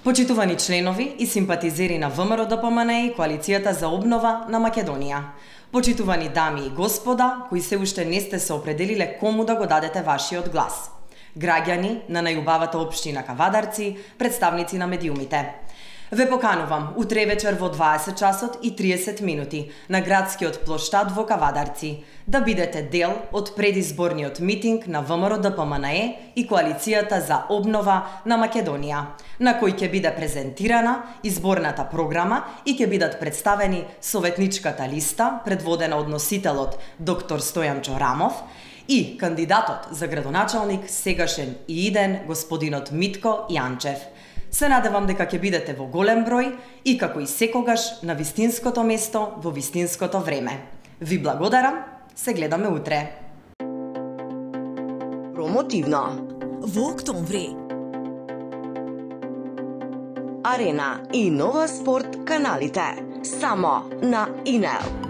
Почитувани членови и симпатизери на ВМРО-ДПМНЕ и Коалицијата за обнова на Македонија. Почитувани дами и господа, кои се уште не сте се определиле кому да го дадете вашиот глас. Граѓани на најубавата општина Кавадарци, представници на медиумите. Ве поканувам утре вечер во 20 часот и 30 минути на градскиот плоштад во Кавадарци да бидете дел од предизборниот митинг на ВМРО-ДПМНЕ и Коалицијата за обнова на Македонија, на кој ќе биде презентирана изборната програма и ќе бидат представени советничката листа предводена од носителот доктор Стојан Чорамов и кандидатот за градоначалник сегашен и иден господинот Митко Јанчев. Се надевам дека ќе бидете во голем број и како и секогаш на вистинското место во вистинското време. Ви благодарам, се гледаме утре. Промотивно. Во октомври. Арена и Нова спорт каналите. Само на ИНЕЛ.